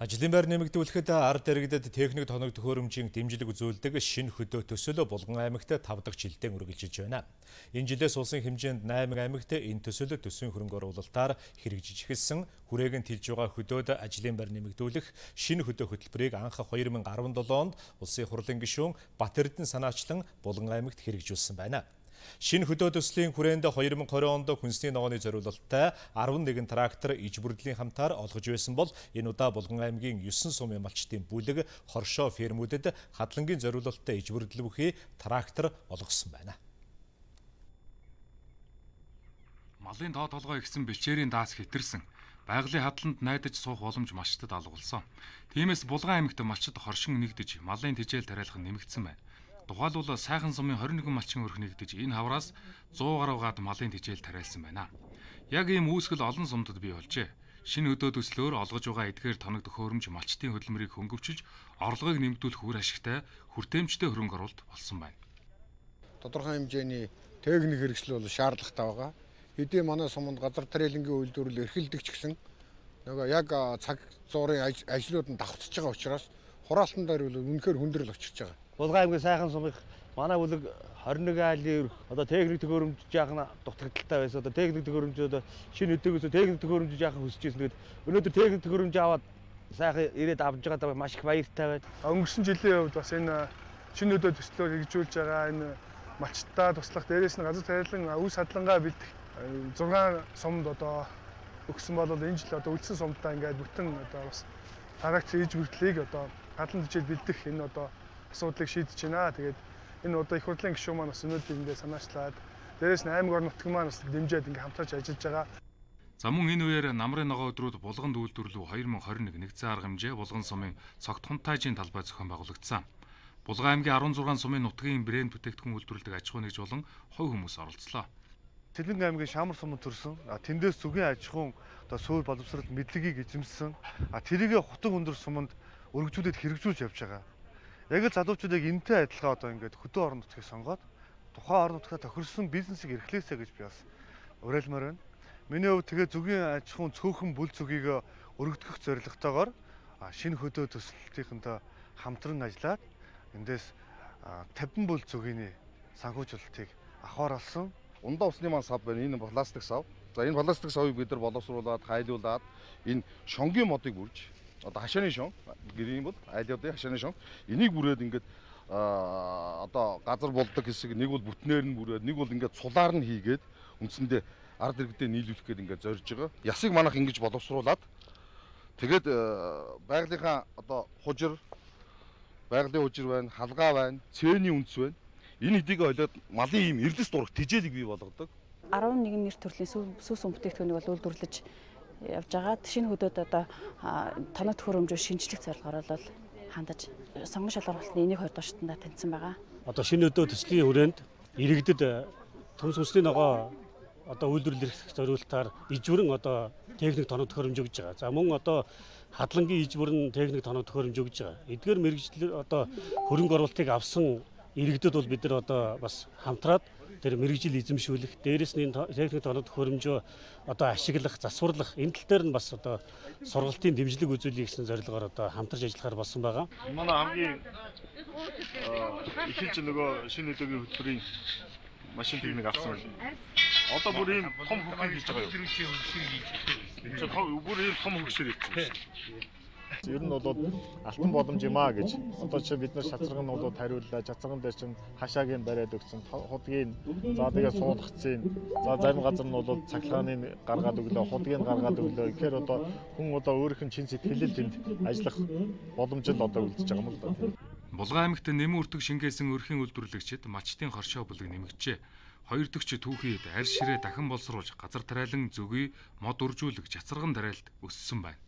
Ажлын байр нэмэгдүүлэхэд ард иргэдэд техник тоног төхөөрөмжийн дэмжлэг үзүүлдэг шинэ хөдөө төсөл Булган аймагт 5 дахь жилдээ үргэлжилж байна. Энэ жилээс улсын хэмжээнд 8 аймагт энэ төсөл төсвийн хөрөнгө оруулалтаар хэрэгжиж эхэлсэн. Хүрээгийн тэлж байгаа хөдөөд ажлын байр нэмэгдүүлэх шинэ хөдөө хөтөлбөрийг анх 2017 онд улсын хурлын гишүүн Бат Эрдэнэ санаачлан Булган аймагт хэрэгжүүлсэн байна. Шинэ хөдөө төслийн хүрээнд 2020 онд хүнсний ногооны зориулалттай 11 трактор иж бүрдлийн хамтаар олгож байсан бол энэ удаа Булган аймгийн 9 сумын малчтын бүлэг хоршоо фермүүдэд хадлангийн зориулалттай иж бүрдэл бүхий трактор олгосон байна. Малын тоо толгой ихсэн бэлчээрийн даас хэтэрсэн. Байгалийн хадланд найдаж суух боломж малчтад алгуулсан. Тиймээс Булган аймагт малчид хоршин нэгдэж малын тэжээл тариалах нэмэгдсэн байна. Тухайлбал сайхан сумын 21 малчин өрх нэгдэж энэ хавраас 100 гаруй гад малын тэжээл тариалсан байна. Яг ийм үүсгэл олон сумдад бий болжээ. Шинэ хөдөө төслөөр олгож байгаа эдгээр тоног төхөөрөмж малчтын хөдөлмөрийг хөнгөвчилж орлогыг нэмэгдүүлэх үр ашигтай хүртээмжтэй хөрөнгө оруулалт болсон байна. Тодорхой хэмжээний техник хэрэгсэл бол шаардлагатай байгаа. Хэдий манай суманд газар тариалангийн үйлдвэрлэл эрхэлдэг ч гэсэн нөгөө яг цаг зуурын ажлууд нь давхцаж байгаа учраас хураалтан дээр бол үнэхээр хүндрэл очиж байгаа. Булган аймгийн сайхан сумын манай бүлэг 21 айлын одоо техник төхөөрөмж жаахан дутагдaltaй байсан. Одоо техник төхөөрөмжөд шинэ өдөөгөөс техник төхөөрөмж жаахан хүсэж ирсэн. Тэгээд өнөөдөр техник төхөөрөмж аваад сайхан ирээд авч байгаа маш их баяртай байна. Өнгөрсөн жилийн хувьд бас энэ шинэ өдөө төслөөр хэрэгжүүлж байгаа энэ малчтаа туслах дээрээс нь газар тариалан үс хадлагаа бэлдэх 6 сумд одоо өгсөн бол энэ жил одоо үлдсэн сумдаа ингээд бүтэн одоо бас трактор иж бүртлийг одоо хадлан тэжээл бэлдэх энэ одоо асуудлыг шийдэж байна. Тэгээд энэ одоо их хурлын гишүүн маань бас өнөөдөр ингээд санаачлаад дээрээс нь аймаг орон нутгийн маань бас дэмжиж ингээд хамтарч ажиллаж байгаа. За мөн энэ үеэр намрын ногоо өдрүүд Булганд үйлдвэрлэв 2021 нэгдсэн арга хэмжээ Булган сумын цогт хунтайжийн талбай зохион байгуулагдсан. Булган аймгийн 16 сумын нутгийн брэнд бүтээгдэхүүн үйлдвэрлэдэг аж ахуй нэгж болон хувь хүмүүс оролцлоо. Тэлэнг аймгийн Шамар суманд төрсөн. Тэндээс зүгийн аж ахуйн одоо суур боловсрол мэдлэгийг эзэмсэн. Тэрийг хутан өндөр суманд өргөжүүлээд хэрэгжүүлж явж байгаа. Яг л залуучуудыг энэтэй адилхан одоо ингээд хөдөө орон нутгийг сонгоод тухайн орон нутгаа тохирсон бизнесийг эрхлээсэй гэж би бас уриалмаар байна. Миний хувьд тэгээ зүгийн аж ахуйн цөөхөн бүл зүгийг өргөдгөх зорилготойгоор шинэ хөдөө төсөлтийнхэнтэй хамтран ажиллаад эндээс 50 бүл зүгийн санхүүжүүлэлтийг авахар болсон. Ундаа усны маань сав байна. Энэ пластик сав. За энэ пластик савыг бид нар боловсруулад, хайлуулад энэ шонгийн модыг бүрж одоо хашааны шон гэрийн бол айлуудын хашааны шон энийг бүрээд ингээд одоо газар болдог хэсэг нэг бол бүтнээр нь бүрээд нэг бол ингээд цулаар нь хийгээд үндсэндээ ард иргэдэд нийлүүлэх гээд ингээд зорж байгаа. Ясыг манах ингэж боловсруулад тэгээд байгалийнхаа одоо хужир байгалийн хужир байна, халгаа байна, цээний үндэс байна. Энэ хэдийг олоод малын ийм эрдэс дурах тэжээлийг бий болгодог. 11 нэр төрлийн сүс бүтээгдэхүүнийг бол үйлдвэрлэж явж байгаа. Шинэ хөдөөд одоо тоног төхөөрөмжөөр шинжлэх зорилгоор бол хандаж сонгон шалгуулалтын энийг 2 дорчтондоо таньсан байгаа. Одоо шинэ хөдөө төслийн хүрээнд иргэдэд төмс хүнсний ногоо одоо үйлдвэрлэх зориулалтаар ижвэрэн одоо техник тоног төхөөрөмж өгж байгаа. За мөн одоо хадлангийн ижвэрэн техник тоног төхөөрөмж өгж байгаа. Эдгээр мэргэжил одоо хөрөнгө оруулалтыг авсан иргэдэд бол бид нар одоо бас хамтраад тэр мэргэжил эзэмшүүлэх, дээрэс нь техник тоног төхөөрөмжөө одоо ашиглах, засварлах энэ тал дээр нь бас одоо сургалтын дэмжлэг үзүүлэх гэсэн зорилгоор одоо хамтарч ажиллахаар болсон байгаа. Манай хамгийн ихэнх нөгөө шинэ хөдөөгийн хөтөлбөрийн машин техник авсан байна. Одоо бүр ийм том хөгжил хийж байгаа юу? Бүр ийм том хөгжил хийсэн. Ер нь бол алтан боломж юм аа гэж. Одоо чи бид нар шацрагнуудад хариуллаа. Шацраган дээр чинь хашаагийн бариад өгсөн. Худгийн за тэгээ суулгацын. За зарим газар нь бол цахилгааны гаргаад өглөө, худгийг гаргаад өглөө. Тэгэхээр одоо хүн одоо өөрийнх нь чин сэтгэлэл тэнд ажиллах боломж л одоо үлдэж байгаа юм л да. Булган аймагт нэмэн үртэг шингээсэн өрхийн үйлдвэрлэгчид малчтын хоршоо бүлэг нэмэгджээ. 2 дэгч түүхийд арь ширээ дахин боловсруулж газар тариалан зөгий мод үржүүлэг жацарган тариалт өссөн байна.